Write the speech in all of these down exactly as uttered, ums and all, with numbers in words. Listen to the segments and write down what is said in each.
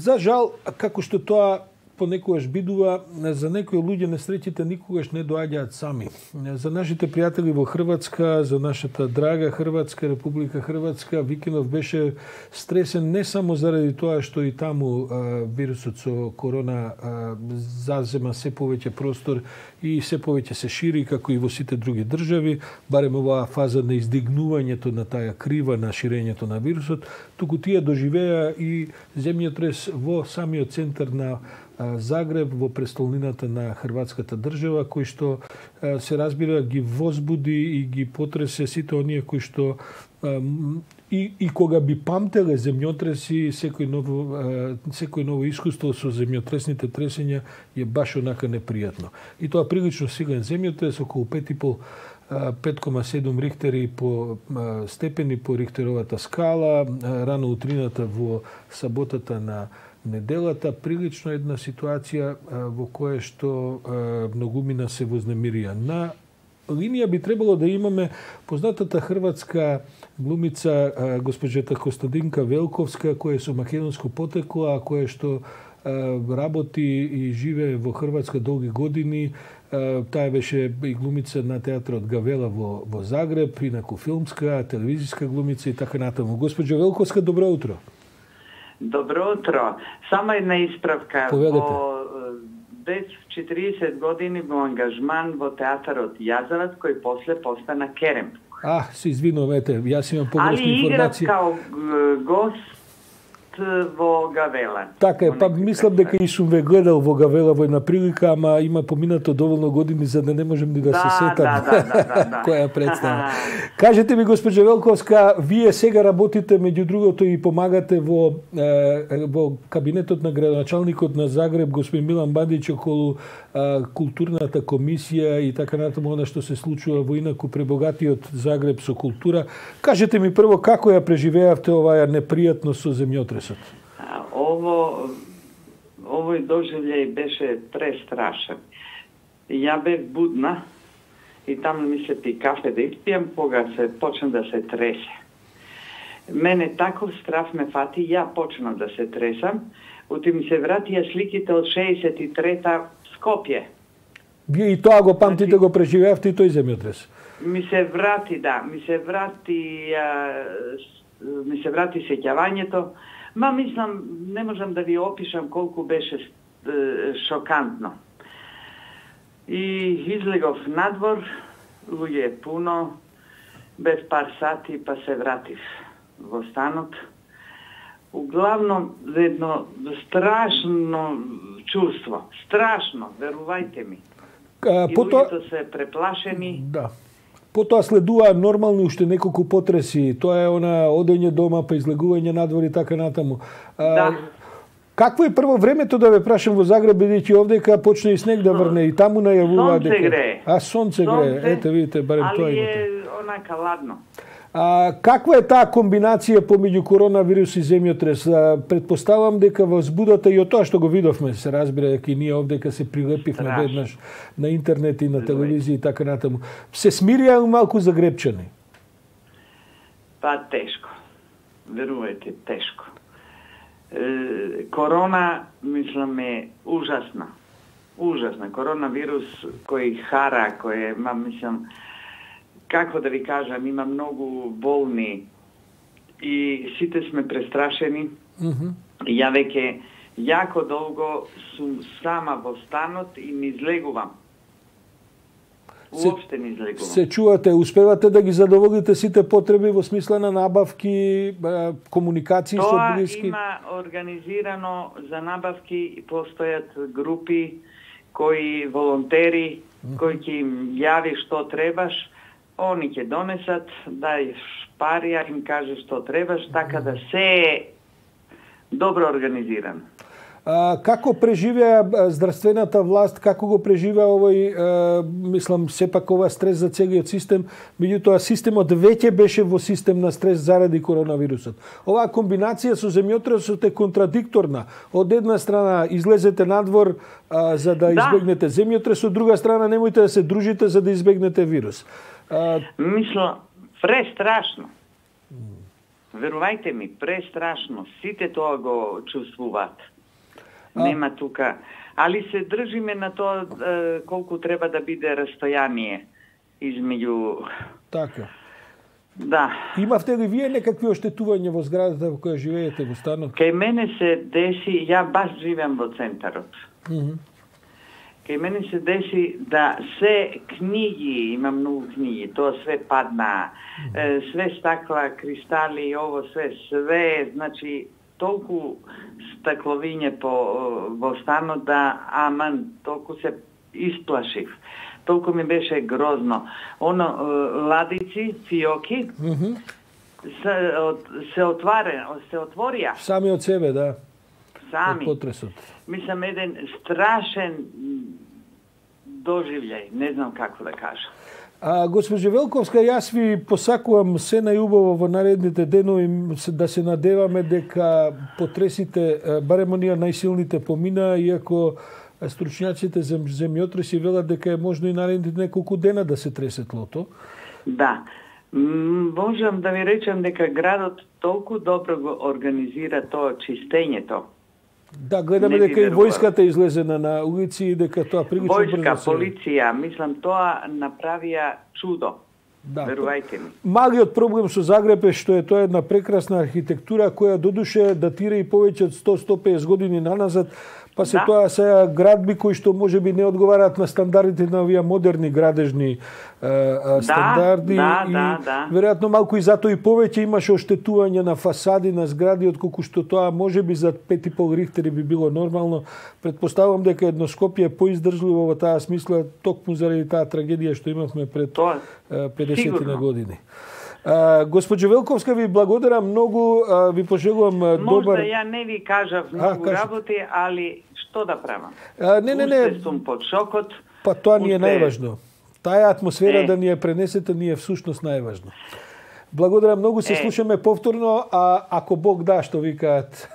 За жал, како што тоа понекогаш бидува, за некои луѓе несреќите никогаш не доаѓаат сами. За нашите пријатели во Хрватска, за нашата драга Хрватска, Република Хрватска, викендов беше стресен не само заради тоа што и таму а, вирусот со корона а, зазема се повеќе простор и се повеќе се шири, како и во сите други држави, барем оваа фаза на издигнувањето на таа крива на ширењето на вирусот, туку тие доживеа и земјотрес во самиот центар на Загреб, во престолнината на хрватската држава, кој што се разбира ги возбуди и ги потресе сите оние кои што и, и кога би памтеле земјотреси, секој ново, секој ново искуство со земјотресните тресења е баш онака непријатно. И тоа прилично силен земјотрес, околу пет и пол пет кома седум рихтери по степени по рихтеровата скала, рано утрината во саботата на неделата, прилично една ситуација во која што многумина се вознемирија. На линија би требало да имаме познатата хрватска глумица госпоđата Костадинка Велковска, која е со македонско потекло, а која што работи и живее во Хрватска долги години. Таа беше и глумица на театрот Гавела во, во Загреб, инаку филмска, телевизиска глумица и така натаму. Госпоđо Велковска, добро утро. Добро утро. Само една исправка. Поведете. Во без четириесет години во ангажман во театарот Јазавац, кој после постана Керем. А, се извинувате, јас имам погрешна информација. Али играв као гост во Гавела. Така е, па мислам дека и сум ве гледал во Гавела во една прилика, ама има поминато доволно години за да не можем ни да, да се сетам да, да, да, да. која представа. Кажете ми, госпоđо Велковска, вие сега работите меѓу другото и помагате во е, во кабинетот на градоначалникот на Загреб, господин Милан Бандиќ, околу е, културната комисија и така натаму она што се случува во инаку пребогатиот Загреб со култура. Кажете ми прво како ја преживеавте оваа непријатност со земјотресот? Ово, овој доживљај беше престрашен. Ја бев будна и таму ми се пи кафе да испијам кога се почна да се тресе. Мене таков страф ме фати, ја почнав да се тресам, оти ми се вратија сликите од шеесет и трета Скопје. Вие и тоа го памтите, го преживеавте и тој земјотрес? Ми се врати, да, ми се врати, а, ми се врати сеќавањето. Ма мислам, не можам да ви опишам колку беше е, шокантно. И излегов надвор, луѓе е пуно, без пар сати, па се вратив во станот. Углавном, едно страшно чувство, страшно, верувајте ми. А, и пото... луѓето се преплашени. Да. Потоа следува нормални уште неколку потреси. Тоа е она одење дома, па излегување надвор и така натаму. А, Да. Какво е прво времето, да ве прашам, во Загреб, бидејќи овдека почне и снег да врне и таму најавува дека... Сонце грее. А, сонце грее. Ете, видите, барем тоа али имате. е онака ладно. А, каква е таа комбинација помеѓу коронавирус и земјотрес? А, предпоставам дека возбудата и од тоа што го видовме, се разбира дека и ние овдека се прилепивме Страшно. веднаш на интернет и на телевизија и така натаму. Се смирија малку загребчани? Па тешко. Верувајте, тешко. Е, корона, мислам, е ужасна. Ужасна. Коронавирус кој хара, кој е, ма, мислам, како да ви кажам, има многу болни и сите сме престрашени. Mm-hmm. Ја веќе јако долго сум сама во станот и не излегувам. Уопште не излегувам. Се чувате, успевате да ги задоволите сите потреби во смисла на набавки, комуникации со блиски? Тоа има организирано за набавки и постојат групи кои волонтери, mm-hmm. кои ќе им јави што требаш, они ќе донесат, дај пари, а им каже што требаш, така да се е добро организирано. А, како преживеа здравствената власт, како го преживеа овој, а, мислам, сепак ова стрес за целиот систем, меѓутоа системот веќе беше во систем на стрес заради коронавирусот. Оваа комбинација со земјотресот е контрадикторна. Од една страна излезете надвор а, за да, да избегнете земјотрес, од друга страна немојте да се дружите за да избегнете вирус. А... Мислам, престрашно. Верувајте ми, престрашно. Сите тоа го чувствуваат. А... Нема тука. Али се држиме на тоа е, колку треба да биде растојание измеѓу... Така. Да. Имавте ли вие некакви оштетувања во зградата во која живеете во станот? Кај мене се деси, ја баш живеам во центарот. Mm -hmm. Кај мене се деси да се книги, има многу книги, тоа све падна, mm -hmm. све стакла, кристали, ово све, све, значи толку стакловиње по во станот да аман, толку се исплашив. Толку ми беше грозно. Оно, ладици, фиоки, Mm -hmm. се, от, се, отваре, се отворија. Сами од себе, да. Сами. Од потресот. Мислам, еден страшен доживљај, не знам како да кажам. А, госпожо Велковска, јас ви посакувам се најубаво во наредните денови, да се надеваме дека потресите, барем оние најсилните помина, иако стручњаците за земјотреси велат дека е можно и наредните неколку дена да се тресе тлото. Да. Можам да ви речам дека градот толку добро го организира тоа чистењето. Да, гледаме Не дека и војската излезена на улици и дека тоа прилично брзо се... Војска, полиција, мислам, тоа направија чудо. Да. Верувајте ми. Малиот проблем со Загреб е што е тоа една прекрасна архитектура која додуше датира и повеќе од сто до сто и песет години наназад, па се Да. тоа се градби кои што можеби не одговараат на стандардите на овие модерни градежни е, стандарди да, и да, да. веројатно малку и затоа и повеќе имаше оштетување на фасади на згради отколку што тоа можеби за пет и пол рихтери би било нормално. Предпоставувам дека едно Скопје е поиздржливо во таа смисла токму заради таа трагедија што имавме пред Тоа педесет на години. А, госпоđo Велковска, ви благодарам многу, а, ви пожелувам Можда добар... ја не ви кажав многу кажете. работи, али што да правам? А, не, не, не. Уште сум под шокот. Па тоа ни е уште- најважно. Таа атмосфера Е. да ни ја пренесете ни е всушност најважно. Благодарам многу, се Е. слушаме повторно, а ако Бог да, што викаат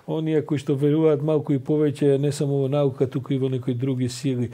оние кои што веруваат малку и повеќе не само во наука, туку и во некои други сили.